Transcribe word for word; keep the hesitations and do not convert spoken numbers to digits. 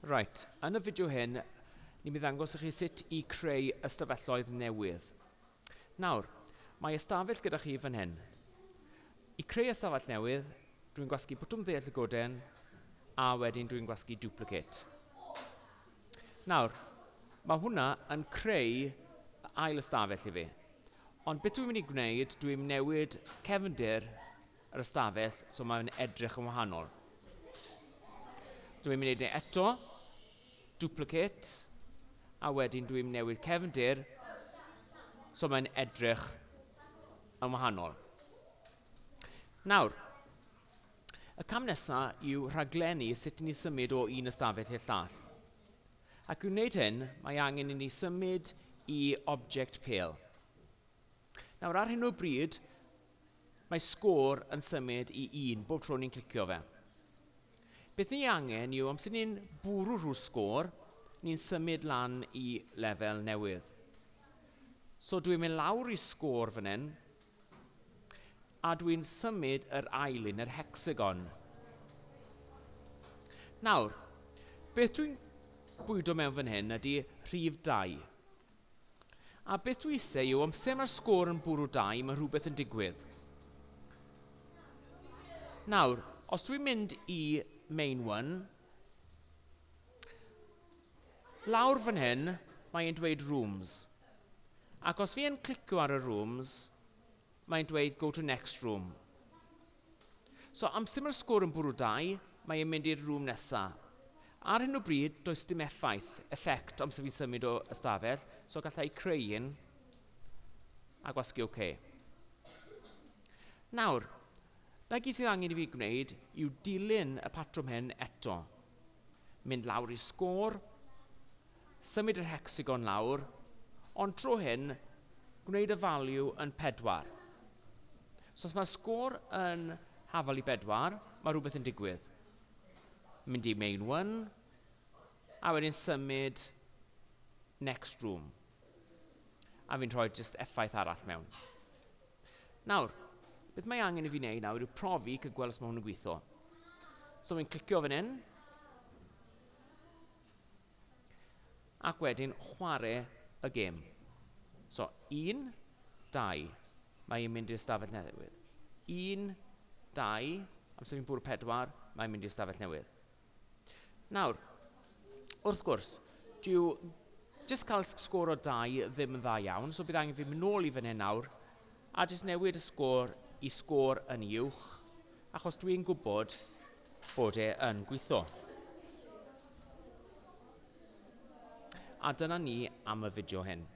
Right, yn y fideo hyn, ni'n mynd i ddangos i chi sut i creu ystafelloedd newydd. Nawr, mae ystafell gyda chi fan hyn. I creu ystafell newydd, dwi'n gwasgu botwm dde llygoden, a wedyn dwi'n gwasgu duplicate. Nawr, mae hwnna yn creu ail ystafell i fi. Ond beth dwi'n mynd i gwneud, dwi'n newid cefndir yr ystafell, so mae'n edrych yn wahanol. Dwi'n mynd i wneud e eto, duplicate, a wedyn dwi'n newid cefndir, so mae'n edrych yn wahanol. Nawr, y cam nesaf yw rhaglennu sut i ni symud o un ystafell i'r llall. Ac i wneud hyn, mae angen i ni symud i object pêl. Nawr, ar hyn o bryd, mae sgôr yn symud i un bob tro ni'n clicio fe. Beth ni angen yw, amser ni'n bwrw rhyw sgôr, ni'n symud lan i lefel newydd. So dwi'n mynd lawr i sgôr fan hyn, a dwi'n symud yr ail un, yr hexagon. Nawr, beth dwi'n bwydo mewn fan hyn ydy rhif dau. A beth dwi eisiau yw, amser mae'r sgôr yn bwrw dau, mae rhywbeth yn digwydd. Nawr, os dwi'n mynd i main one, lawr fan hyn, mae'n dweud rooms. Ac os fi yn clicio ar y rooms, mae'n dweud go to next room. So amser mae'r sgôr yn bwrw dau, mae'n mynd i'r room nesaf. Ar hyn o bryd, does dim effaith, effect amser fi'n symud o ystafell, so gallai creu un a gwasgu OK. Nawr, na gyd sydd angen i fi gwneud yw dilyn y patrwm hyn eto. Mynd lawr i sgôr, symud yr hexagon lawr, ond tro hyn, gwneud y value yn pedwar. So os mae'r sgôr yn hafal i bedwar, mae rhywbeth yn digwydd. Mynd i main one, a wedyn symud next room. A fi'n rhoi just effaith arall mewn. Nawr, beth mae angen i fi wneud nawr yw profi cael gweld os mae hwn yn gweithio. So fi'n clicio fan hyn, ac wedyn chwarae y gêm. So, un, dau, mae'n mynd i'r ystafell newydd. Un, dau, amser fi'n bwrw pedwar, mae'n mynd i'r ystafell newydd. Nawr, wrth gwrs, dyw jyst cael sgôr o dau ddim yn dda iawn, so bydd angen fi mynd nôl i fan hyn nawr, a jyst newid y sgôr i sgôr yn uwch, achos dwi'n gwybod bod e yn gweithio. A dyna ni am y fideo hyn.